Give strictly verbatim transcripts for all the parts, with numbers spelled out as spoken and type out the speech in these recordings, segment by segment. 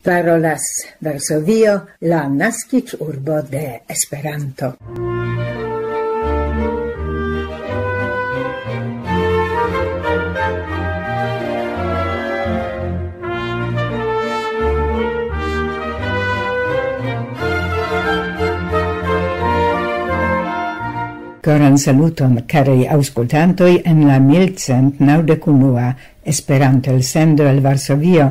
Parolas Varsovio, la naskiĝurbo de Esperanto. Koran saluton, karaj aŭskultantoj, en la mil cent naŭdek unua Esperanto-elsendo el Varsovio.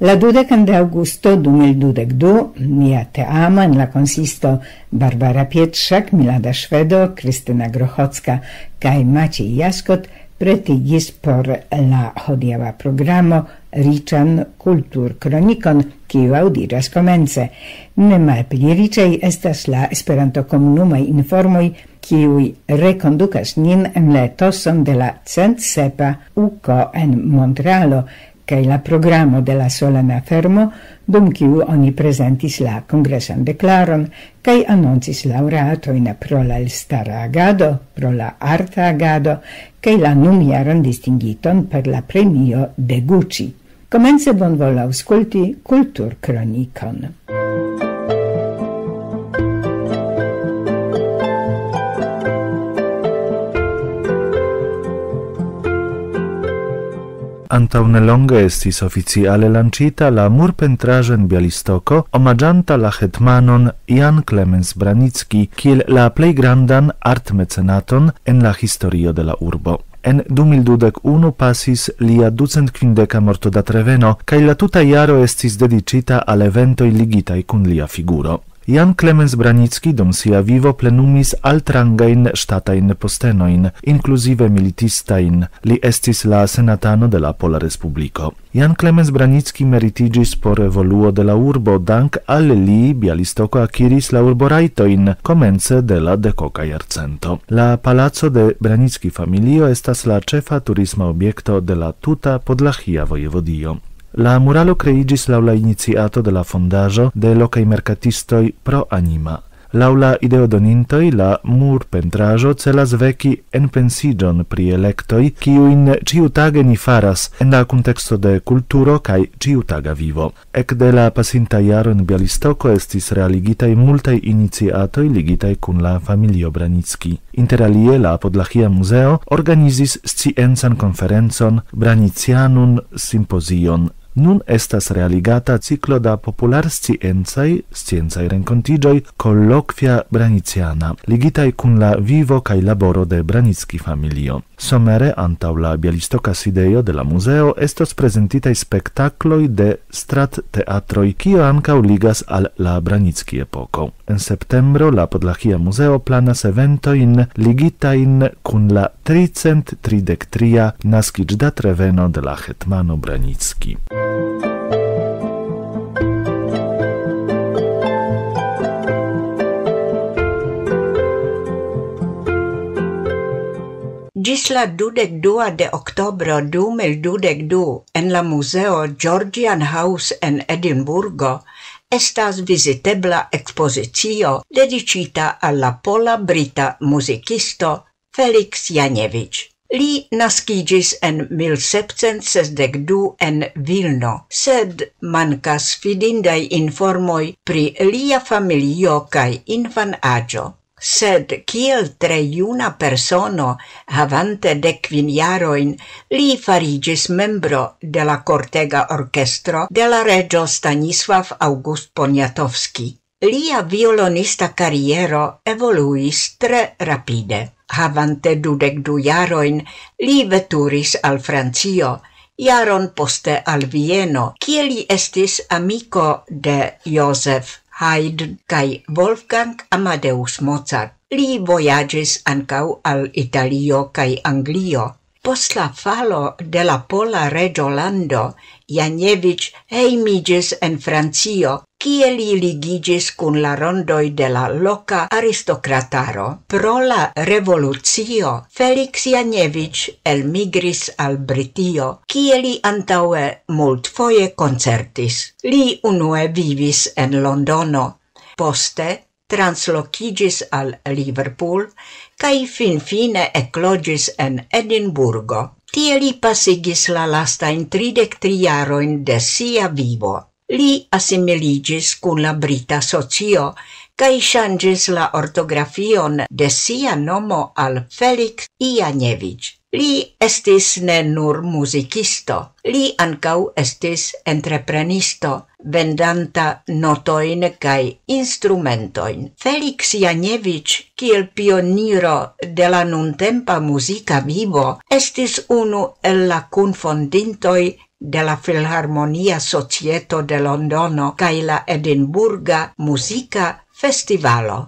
La dudekan de aŭgusto du mil dudek du, nia teamo en la konsisto Barbara Pietrzak, Milada Ŝvedo, Kristina Grochocka kaj Maciej Jaskot pretigis por la hodiaŭa programo riĉan kulturkronikon, kiu aŭdiĝas komence. Ne malpli riĉaj estas la Esperanto-komunumaj informoj, kiuj rekondukas nin en la etoson de la cent sepa uko en Montrealo, kaj la programo de la solena fermo, dum kiu oni prezentis la kongresan deklaron, kaj anoncis laŭreatojn pro la elstara agado, pro la arta agado, kaj la nunjaran distingiton per la premio de Gucci. Komence bonvolu aŭskulti Kulturkronikon. Antaŭ nelonge estis oficiale lanĉita la murpentraĵo en Bialystoko, omaĝanta la hetmanon Jan Klemens Branicki kiel la plej grandan artmecenaton en la historio de la urbo. En du mil dudek unu pasis lia ducent kvindeka mortodatreveno, kaj la tuta jaro estis dediĉita al eventoj ligitaj kun lia figuro. Jan Klemens Branicki dum sia vivo plenumis altrangajn ŝtatajn postenojn, inkluzive militistajn. Li estis la senatano de la Pola Respubliko. Jan Klemens Branicki meritiĝis por evoluo de la urbo, dank al li Bialystoko akiris la urborajtojn komence de la dekoka jarcento. La palaco de Branicki familio estas la ĉefa turisma objekto de la tuta Podlahia vojevodio. La muralo kreiĝis laŭ la iniciato de la fondaĵo de lokaj merkatistoj pro anima. Laŭ la ideodonintoj, la murpentraĵo celas veki enpensiĝon pri elektoj, kiujn ĉiutage ni faras en la kunteksto de kulturo kaj ĉiutaga vivo. Ekde la pasinta jaro en Bialystoko estis realigitaj multaj iniciatoj ligitaj kun la familio Branicki. Inter alie, la Podlahia Muzeo organizis sciencan konferencon Branickianum Symposium. Nun estas realigata ciklo da popularsciencaj, sciencaj renkontiĝoj Colloquia Branickiana, ligitaj kun la vivo kaj laboro de Branicki familio. Somere antaŭ la bialistoka sidejo de la muzeo estos prezentitaj spektakloj de stratteatroj, kio ankaŭ ligas al la Branicki epoko. En septembro la Podlahia Muzeo planas eventojn ligitajn kun la tricent tridek tria naskiĝdatreveno de la hetmano Branicki. Ĝis la dudek dua de oktobro du mil dudek du en la muzeo Georgian House en Edinburgo estas vizitebla ekspozicio dediĉita al la pola-brita muzikisto Felix Janiewisz. Li naskiĝis en mil sepcent sesdek du en Vilno, sed mankas fidindaj informoj pri lia familio kaj infanaĝo. Sed kiel tre juna persono, havante dek kvin jarojn, li fariĝis membro de la kortega orkestro de la reĝo Stanisław August Poniatowski. Lia violonista kariero evoluis tre rapide. Havante dudek du jarojn, li veturis al Francio, jaron poste al Vieno, kie li estis amiko de Joseph Haydn kaj Wolfgang Amadeus Mozart. Li vojaĝis ankaŭ al Italio kaj Anglio. Post la falo de la pola reĝolando, Janiewisz hejmiĝis en Francio, kie li ligiĝis kun la rondoj de la loka aristokrataro. Pro la revolucio, Felix Janiewisz elmigris al Britio, kie li antaŭe multfoje koncertis. Li unue vivis en Londono, poste translokiĝis al Liverpool kaj finfine ekloĝis en Edinburgo. Tie li pasigis la lastajn tridek tri jarojn de sia vivo. Li asimiliĝis kun la brita socio kaj ŝanĝis la ortografion de sia nomo al Felix Ijaneviĝ. Li estis ne nur muzikisto, li ankaŭ estis entreprenisto, vendanta notojn kaj instrumentojn. Felix Janevic, kiel pioniro de la nuntempa muzika vivo, estis unu el la kunfondintoj de la Filharmonia Societo de Londono kaj la Edinburga Muzika Festivalo.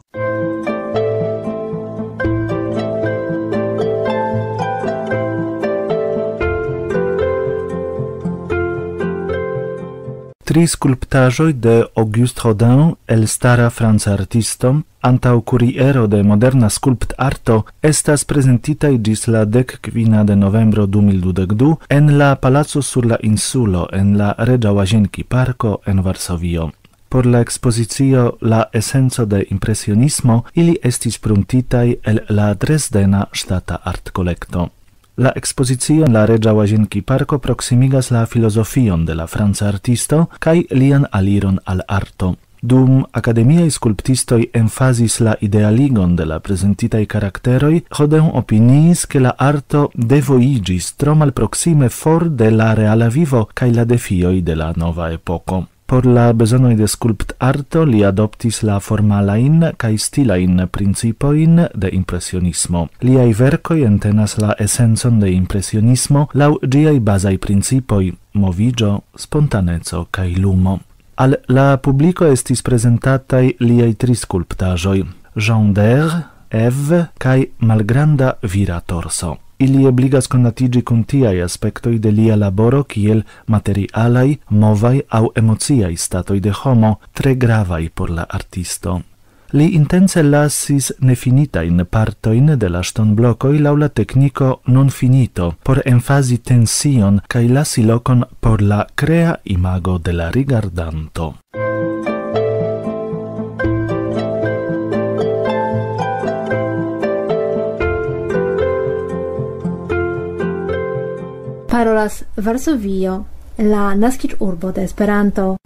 Tri skulptaĵoj de Auguste Rodin, elstara franca artisto, antaŭ kuriero de moderna skulptarto, estas prezentitaj ĝis la dek kvina de novembro du mil dudek du en la Palaco sur la Insulo en la Reĝa Łazienki Parko en Varsovio. Por la ekspozicio La Esenco de Impresionismo ili estis pruntitaj el la Dresdena Ŝtata Artkolekto. La ekspozicio en la Reĝa Łazienki Parko proksimigas la filozofion de la franca artisto kaj lian aliron al arto. Dum akademiaj skulptistoj emfazis la idealigon de la prezentitaj karakteroj, Rodin opiniis, ke la arto devojiĝis tro malproksime for de la reala vivo kaj la defioj de la nova epoko. Por la bezonoj de skulptarto li adoptis la formalajn kaj stilajn principojn de impresionismo. Liaj verkoj entenas la esencon de impresionismo laŭ ĝiaj bazaj principoj: moviĝo, spontaneco kaj lumo. Al la publiko estis prezentataj liaj tri skulptaĵoj: Jean d'Erre, Eve kaj malgranda vira torso. Ili ebligas konatiĝi kun tiaj aspektoj de lia laboro kiel materialaj, movaj aŭ emociaj statoj de homo, tre gravaj por la artisto. Li intence lasis nefinitajn partojn de la ŝtonblokoj laŭ la tekniko nonfinito por emfazi tension kaj lasi lokon por la krea imago de la rigardanto. Parolas Varsovio, la naskiĝurbo de Esperanto.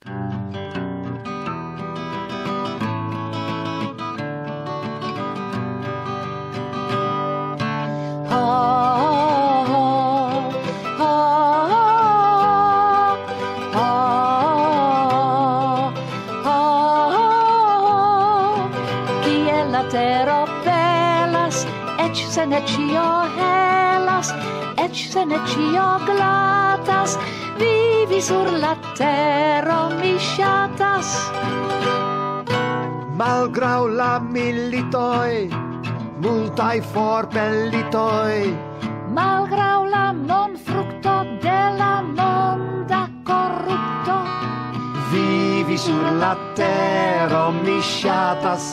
Kiel la tero belas, eĉ se ne ĉio helas, eĉ se ne ĉio glatas, vivi sur la tero mi ŝatas. Malgraŭ la militoj, multaj forpelitoj, malgraŭ la monfrukto de la monda korupto, vivi sur la tero mi ŝatas.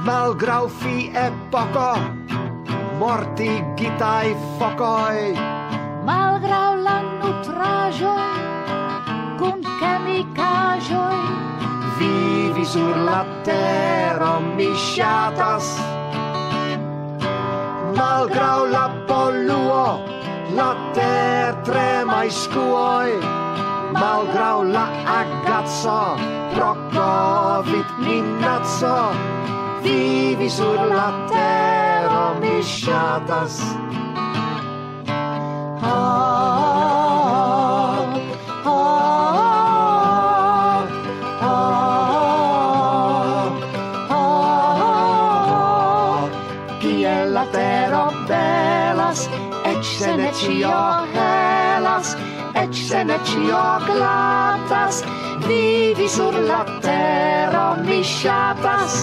Malgraŭ fi epoko, mortigitaj fokoj, malgraŭ la nutraĵoj kun kemikaĵoj, vivi sur la tero mi ŝatas. Malgraŭ la poluo, la tertremaj skuoj, malgraŭ la agaco pro COVID-minaco, vivi sur la tero mi ŝatas. Ah, ah, ah, ah, ah. Kiel la tero belas, eĉ se ne ĉio helas, eĉ se ne ĉio glatas, vivi sur la tero mi ŝatas.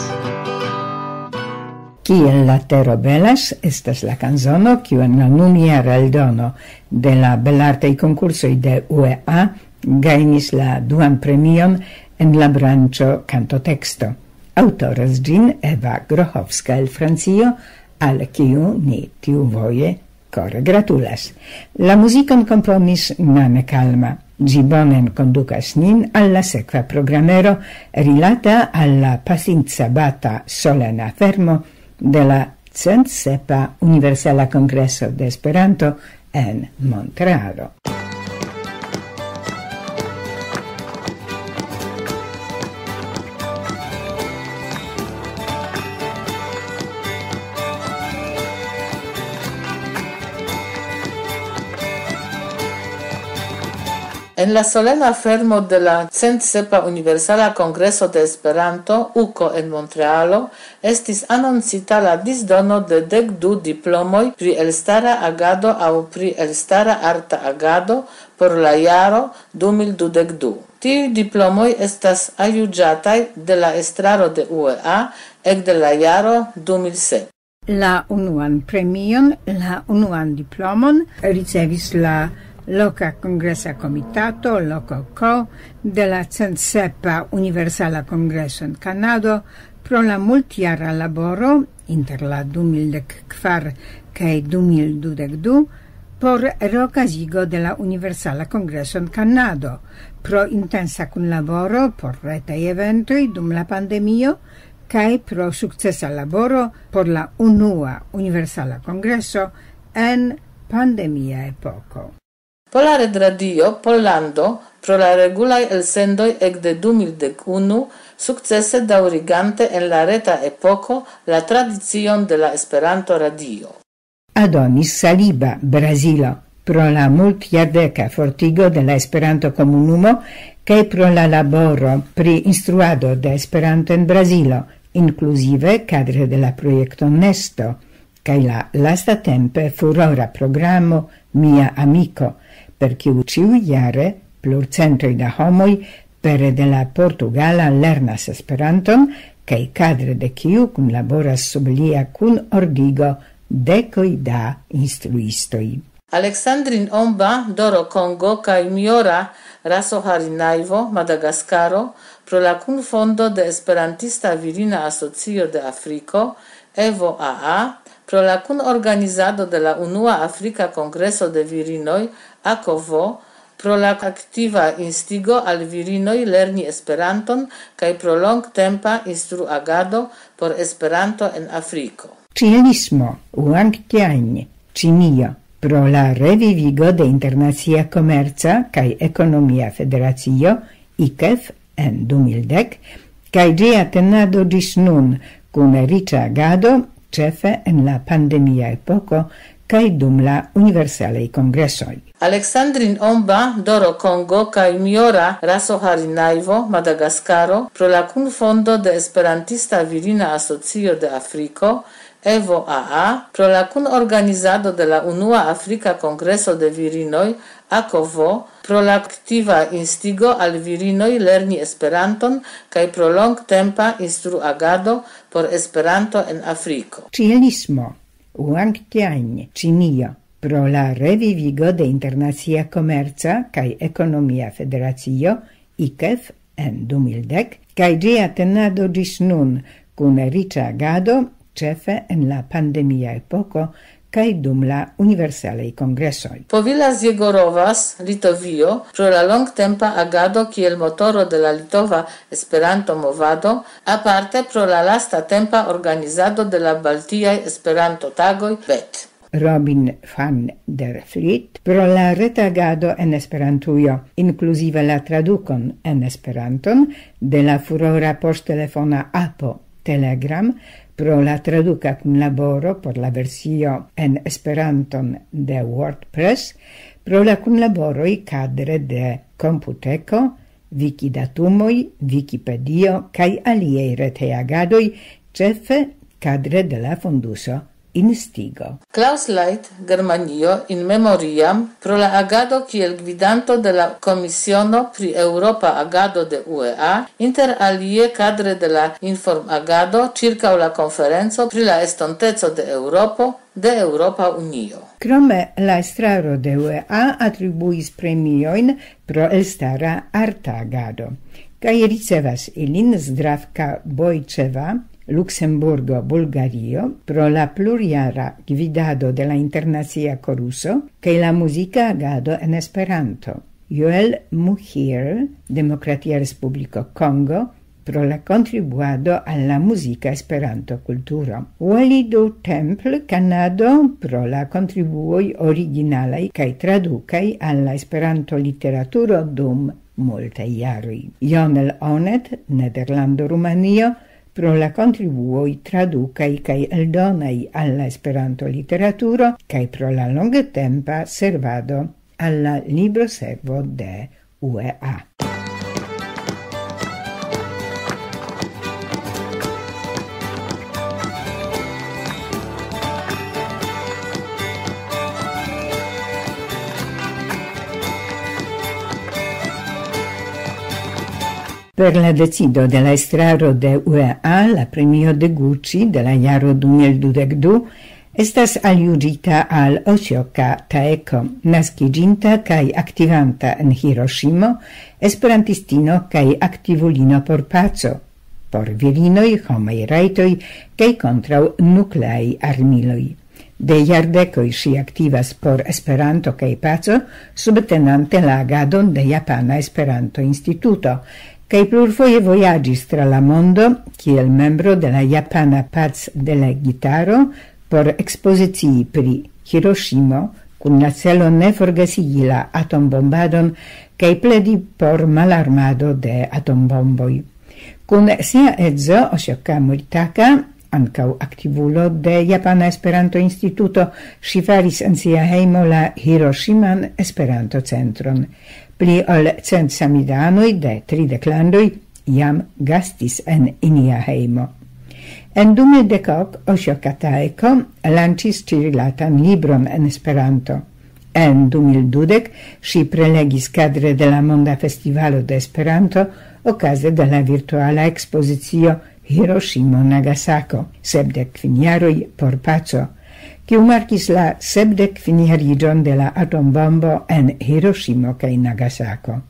Kiel la tero belas estas la kanzono, kiu en la nunjara eldono de la belartaj konkursoj de U E A gajnis la duan premion en la branĉo kantoteksto. Aŭtoras ĝin Eva Grochowska el Francio, al kiu ni tiuvoje kore gratulas. La muzikon komponis Nane Kalma. Ĝi bone kondukas nin al la sekva programero rilata al la pasinca bata solena fermo de la cent sepa Universala Kongreso de Esperanto en Montrealo. En la solena fermo de la centsepa Universala Kongreso de Esperanto, uko, en Montrealo, estis anoncita la disdono de dek du diplomoj pri elstara agado aŭ pri elstara arta agado por la jaro du mil dudek du. Tiuj diplomoj estas aljuĝataj de la estraro de U E A ekde la jaro du mil sep. La unuan premion, la unuan diplomon, ricevis la loka kongresa komitato, loko ko, de la centsepa Universala Kongreso en Kanado pro la multjara laboro inter la du mil dek kvar kaj du mil dudek du por reokazigo de la Universala Kongreso en Kanado, pro intensa kunlaboro por retaj eventoj dum la pandemio kaj pro sukcesa laboro por la unua Universala Kongreso en pandemia epoko. Pola Redradio Pollando pro la regulaj elsendoj ekde du mil dek unu, sukcese daŭrigante en la reta epoko la tradicion de la Esperanto-radio. Adonis Saliba, Brazilo, pro la multjardeka fortigo de la Esperanto-komunumo kaj pro la laboro pri instruado de Esperanto en Brazilo, inkluzive kadre de la projekto Nesto, kaj la lastatempe furora programo Mia Amiko, per kiu ĉiujare plurcentoj da homoj pere de la portugala lernas Esperanton, kaj kadre de kiu kunlaboras sub lia kunordigo dekoj da instruistoj. Alexandrin Omba, Doro Kongo kaj Miora Rasoharinaivo, Madagaskaro, pro la kunfondo de Esperantista Virina Asocio de Afriko, Evo A A, pro la kunorganizado de la unua Afrika Kongreso de Virinoj, Akovo, pro la aktiva instigo al virinoj lerni Esperanton kaj pro longtempa instruagado por Esperanto en Afriko. Ĉielismo, Wangtianj, Ĉinio, pro la revivigo de Internacia Komerca kaj Ekonomia Federacio, ikef, en du mil dek, kaj ĝia tenado ĝis nun, kun riĉa agado, ĉefe en la pandemia epoko kaj dum la universalaj kongresoj. Alexandrin Omba, Doro Kongo kaj Miora Rasoharinaivo, Madagaskaro, pro la kunfondo de Esperantista Virina Asocio de Afriko, Evo A A, pro la kunorganizado de la unua Afrika Kongreso de Virinoj, Akovo, pro la aktiva instigo al virinoj lerni Esperanton kaj pro longtempa instruagado por Esperanto en Afriko. Ĉielismo, Wangtianj, Ĉinio, pro la revivigo de Internacia Komerca kaj Ekonomia Federacio, ikef, en du mil dek, kaj ĝia tenado ĝis nun, kun riĉa agado, ĉefe en la pandemia epoko kaj dum la universalaj kongresoj. Povilas Jegorovas, Litovio, pro la longtempa agado kiel motoro de la litova Esperanto-movado, aparte pro la lasta tempa organizado de la Baltiaj Esperanto-tagoj, bet. Robin van der Vliet, pro la retagado en Esperantujo, inkluzive la tradukon en Esperanton de la furora poŝtelefona apo Telegram, pro la traduka kunlaboro por la versio en Esperanton de WordPress, pro la kunlaboroj kadre de Komputeko, Wikidatumoj, Wikipedio kaj aliaj retej agadoj, ĉefe kadre de la fonduso Instigo. Klaus Leit, Germanio, in memoriam, pro la agado kiel gvidanto de la Komisiono pri Eŭropa Agado de U E A, inter alie kadre de la informagado ĉirkaŭ la konferenco pri la estonteco de Eŭropo de Eŭropa Unio. Krome la estraro de U E A atribuis premiojn pro elstara arta agado, kaj ricevas ilin Zdravka Bojĉeva, Luksemburgo, Bulgario, pro la plurjara gvidado de la internacia koruso kaj la muzika agado en Esperanto. Joel Muhir, Demokratia Respubliko Kongo, pro la kontribuado al la muzika Esperanto-kulturo. Walidu Temple, Kanado, pro la kontribuoj originalaj kaj tradukaj al la Esperanto-literaturo dum multaj jaroj. Jonel Onet, Nederlando, Rumanio, pro la kontribuoj tradukaj kaj eldonaj al la Esperanto-literaturo kaj pro la longetempa servado al la libroservo de U E A. Per la decido de la estraro de U E A, la premio de Gucci de la jaro du mil dudek du estas aljuĝita al Osioka Taeko, naskiĝinta kaj aktivanta en Hiroshimo, esperantistino kaj aktivulino por paco, por virinoj, homaj rajtoj kaj kontraŭ nukleaj armiloj. De jardekoj ŝi aktivas por Esperanto kaj paco, subtenante la agadon de Japana Esperanto-Instituto, kaj plurfoje vojaĝis tra la mondo kiel membro de la Japana Pac-Delegitaro por ekspozicii pri Hiroshimo, kun la celo ne forgesigi la atombombadon kaj pledi por malarmado de atombomboj. Kun sia edzo Osioka Moritaka, ankaŭ aktivulo de Japana Esperanto-Instituto, ŝi faris en sia hejmo la Hiroshiman Esperanto-Centron. Pli ol cent samidanoj de tridek landoj jam gastis en inia hejmo. En du mil dek ok Osioka Taeko lanĉis ĉirilatan libron en Esperanto. En du mil dudek ŝi prelegis kadre de la Monda Festivalo de Esperanto okaze de la virtuala ekspozicio Hiroshimo Nagasako, sepdek kvin jaroj por paco, kiu markis la sepdek kvin jariĝon de la atombombo en Hiroshimo kaj Nagasako.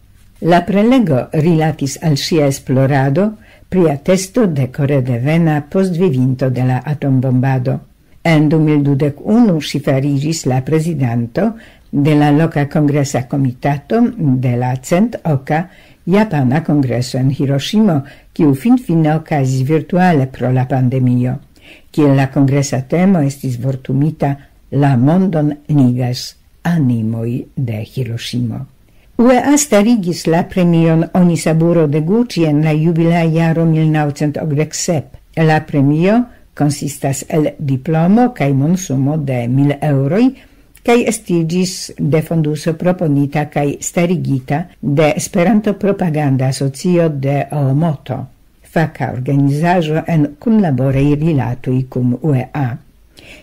La prelego rilatis al ŝia esplorado pri atesto de kore devena postvivinto de la atombombado. En du mil dudek unu ŝi fariĝis la prezidanto de la loka kongresa komitato de la cent oka Japana Kongreso en Hiroshimo, kiu finfine okazis virtuale pro la pandemio. Kiel la kongresa temo estis vortumita: "La mondon ligas animoj de Hiroshimo". U E A starigis la premion Onisaburo de Gucci en la jubilea jaro mil naŭcent okdek sep. La premio konsistas el diplomo kaj monsumo de mil eŭroj, kaj estiĝis de fonduso proponita kaj starigita de Esperanto Propaganda Asocio de Oomoto, faka organizaĵo en kunlaboraj rilatoj kun U E A.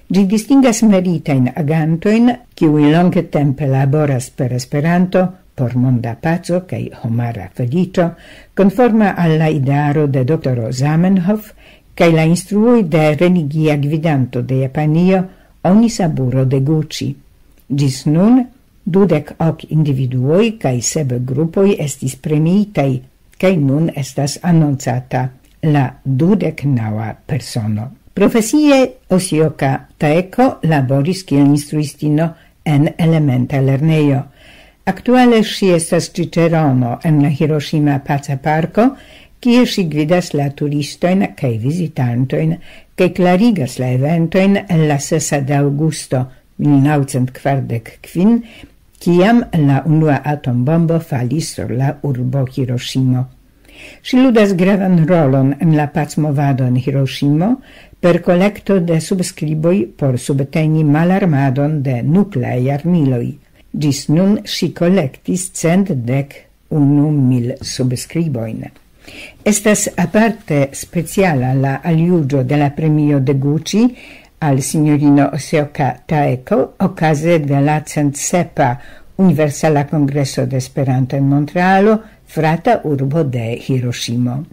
Ĝi distingas meritajn agantojn, kiuj longe tempe laboras per Esperanto por monda paco kaj homara feliĉo, konforma al la idearo de doktoro Zamenhof kaj la instruoj de religia gvidanto de Japanio, Onisaburo de Gucci. Ĝis nun dudek ok individuoj kaj sep grupoj estis premiitaj, kaj nun estas anoncata la dudek naŭa persono. Profesie Osioka Taeko laboris kiel instruistino en elementa lernejo. Aktuale ŝi estas ĉiĉerono en la Hiroshima Paca Parko, kie ŝi gvidas la turistojn kaj vizitantojn, kaj klarigas la eventojn el la sesa de aŭgusto mil naŭcent kvardek kvin, kiam la unua atombombo falis sur la urbo Hiroshimo. Ŝi ludas gravan rolon en la pacmovado en Hiroshimo per kolekto de subskriboj por subteni malarmadon de nukleaj armiloj. Ĝis nun ŝi kolektis cent dek unu mil subskribojn. Estas aparte speciala la aljuĝo de la premio de Gucci al sinjorino Osioka Taeko okaze de la cent sepa Universala Kongreso de Esperanto en Montrealo, frata urbo de Hiroshimo.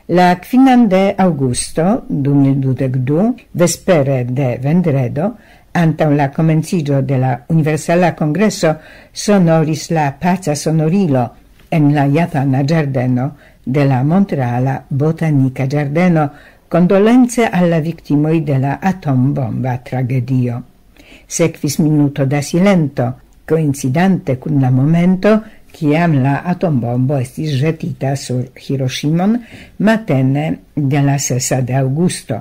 La kvinan de aŭgusto du mil dudek du, vespere de vendredo, antaŭ la komenciĝo de la Universala Kongreso, sonoris la paca sonorilo en la japana ĝardeno de la Montreala Botanika Ĝardeno, kondolence al la viktimoj de la atombomba tragedio. Sekvis minuto da silento, koincidante kun la momento, kiam la atombombo estis ĵetita sur Hiroshimon matene de la sesa de aŭgusto,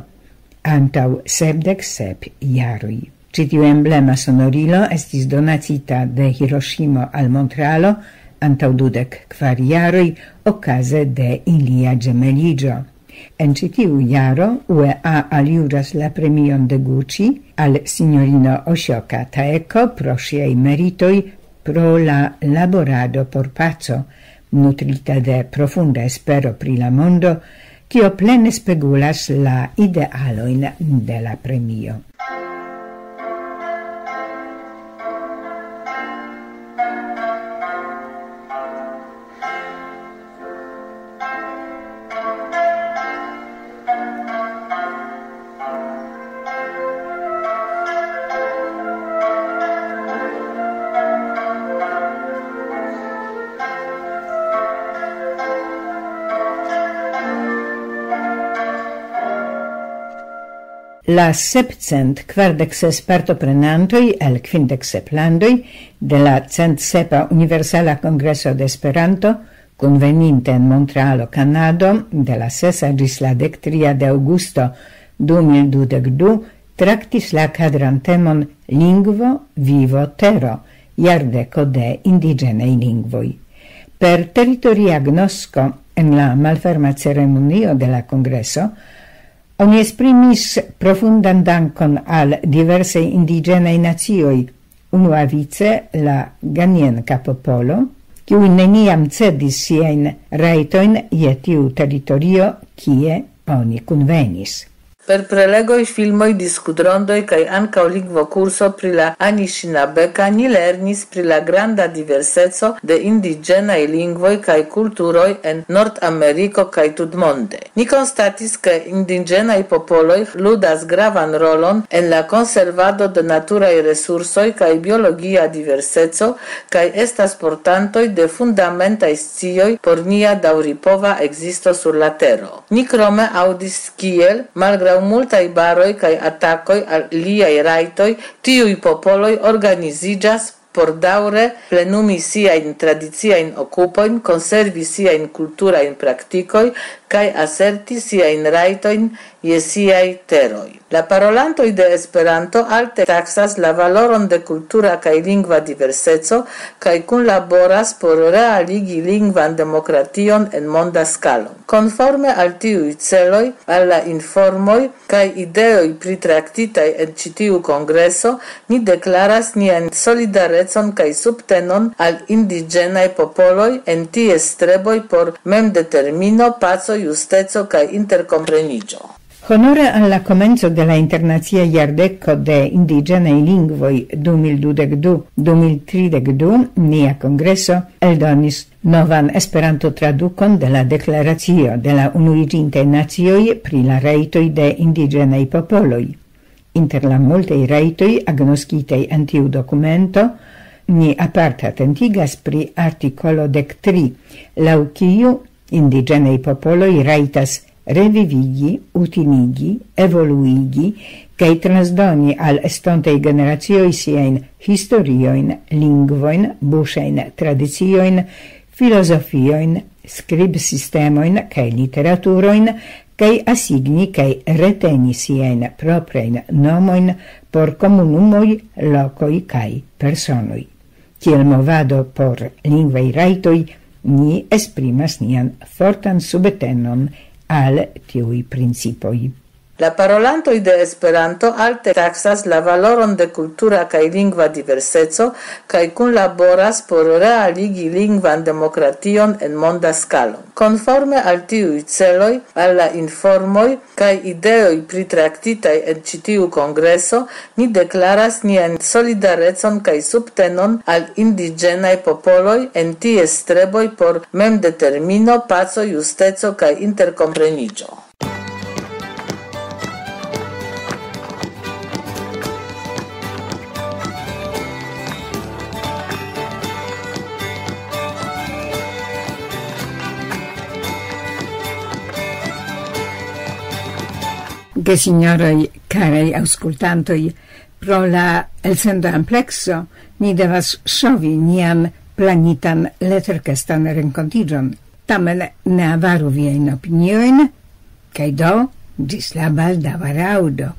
antaŭ sepdek sep jaroj. Ĉi tiu emblema sonorilo estis donacita de Hiroshimo al Montrealo antaŭ dudek kvar jaroj, okaze de ilia ĝemeliĝo. En ĉi tiu jaro U E A aljuras la premion de Gucci al sinjorino Osioka Taeko pro ŝiaj meritoj pro la laborado por paco, nutrita de profunda espero pri la mondo, kio plene spegulas la idealojn de la premio. La sepcent kvardek ses partoprenantoj el kvindek sep landoj de la cent sepa Universala Kongreso de Esperanto, kunveninte en Montrealo, Kanado, de la sesa ĝis la dek tria de aŭgusto du mil dudek du, traktis la kadran temon Lingvo, vivo, tero, jardeko de indiĝenaj lingvoj. Per teritoria agnosko en la malferma ceremonio de la kongreso oni esprimis profundan dankon al diversaj indiĝenaj nacioj, unuavice la Ganienka popolo, kiuj neniam cedis siajn rajtojn je tiu teritorio, kie oni kunvenis. Per prelegoj, filmoj, diskutrondoj kaj ankaŭ lingvokurso pri la Anishinabeka ni lernis pri la granda diverseco de indiĝenaj lingvoj kaj kulturoj en Nordameriko kaj tutmonde. Ni konstatis, ke indiĝenaj popoloj ludas gravan rolon en la konservado de naturaj resursoj kaj biologia diverseco, kaj estas portantoj de fundamentaj scioj por nia daŭripova ekzisto sur la Tero. Ni krome aŭdis, kiel, malgraŭ multaj baroj kaj atakoj al liaj rajtoj, tiuj popoloj organiziĝas por daŭre plenumi siajn tradiciajn okupojn, konservi siajn kulturajn praktikoj kaj aserti siajn rajtojn je siaj teroj. La parolantoj de Esperanto alte taksas la valoron de kultura kaj lingva diverseco kaj kunlaboras por realigi lingvan demokration en monda skalo. Konforme al tiuj celoj, al la informoj kaj ideoj pritraktitaj en ĉi tiu kongreso, ni deklaras nian solidarecon kaj subtenon al indiĝenaj popoloj en ties streboj por memdetermino, paco, justeco kaj interkompreniĝo. Honore al la komenco de la Internacia Jardeko de Indiĝenaj Lingvoj du mil dudek du, du mil tridek du, nia kongreso eldonis novan Esperanto-tradukon de la Deklaracio de la Unuiĝintaj Nacioj pri la Rajtoj de Indiĝenaj Popoloj. Inter la multaj rajtoj agnoskitaj en tiu dokumento, ni aparte atentigas pri artikolo dek tri, laŭ kiu indiĝenaj popoloj rajtas revivigi, utinigi, evoluigi kaj transdoni al estontaj generacioj siajn historiojn, lingvojn, buŝajn tradiciojn, filozofiojn, skribsistemojn kaj literaturojn, kaj asigni kaj reteni siajn proprajn nomojn por komunumoj, lokoj kaj personoj. Kiel movado por lingvaj rajtoj, ni esprimas nian fortan subtenon al tiuj principoj. La parolantoj de Esperanto alte taksas la valoron de kultura kaj lingva diverseco kaj kunlaboras por realigi lingvan demokration en monda skalo. Konforme al tiuj celoj, al la informoj kaj ideoj pritraktitaj en ĉi tiu kongreso, ni deklaras nian solidarecon kaj subtenon al indiĝenaj popoloj en ties streboj por memdetermino, paco, justeco kaj interkompreniĝo. Gesinjoroj, karaj aŭskultantoj, pro la elsendo amplekso ni devas ŝovi nian planitan leterkestan renkontiĝon. Tamen ne avaru viajn opiniojn, kaj do, ĝis la baldaŭa raŭdo.